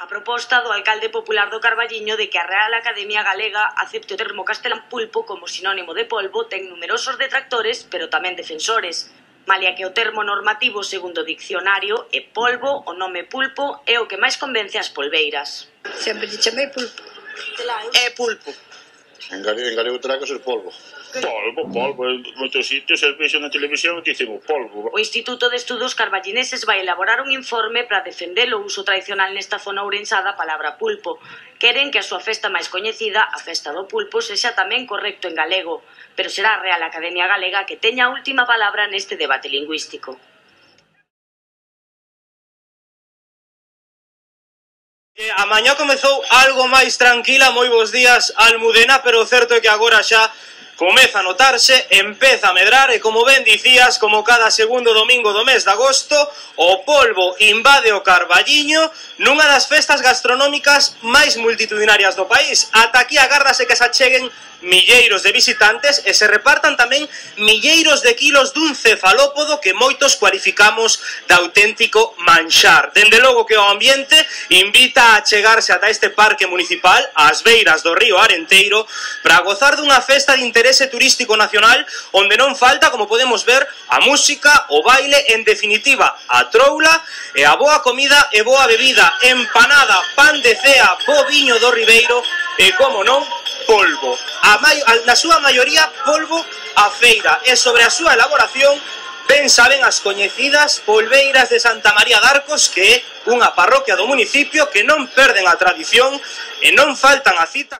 A proposta do alcalde popular do Carballiño de que a Real Academia Galega acepte o termo castelán pulpo como sinónimo de polvo ten numerosos detractores, pero tamén defensores. Malia que o termo normativo, segundo o diccionario, é polvo, o nome pulpo é o que máis convence as polveiras. Sempre lle chamei pulpo. É pulpo. En galego terá que ser polvo. Polvo. En moitos sitios se vexo na televisión e dicen o polvo. O Instituto de Estudos Carballineses vai elaborar un informe para defender o uso tradicional nesta zona ourensá da palabra pulpo. Queren que a súa festa máis coñecida, a festa do pulpo, sexa tamén correcto en galego, pero será a Real Academia Galega que teña a última palabra neste debate lingüístico. A mañá comezou algo máis tranquila, moi bons días, Almudena, pero o certo é que agora xa comeza a notarse, empeza a medrar e, como ben dicías, como cada segundo domingo do mes de agosto, o polvo invade o Carballiño nunha das festas gastronómicas máis multitudinarias do país. Ata aquí agárdase que se acheguen milleiros de visitantes e se repartan tamén milleiros de kilos dun cefalópodo que moitos cualificamos de auténtico manxar. Dende logo que o ambiente invita a chegarse ata este parque municipal, ás beiras do río Arenteiro, para gozar dunha festa de interese turístico nacional onde non falta, como podemos ver, a música, o baile, en definitiva, a troula e a boa comida e boa bebida, empanada, pan de cea, bo viño do Ribeiro e, como non, polvo. Na súa maioría, polvo a feira. E sobre a súa elaboración, ben saben as coñecidas polveiras de Santa María de Arcos, que é unha parroquia do municipio que non perden a tradición e non faltan a cita.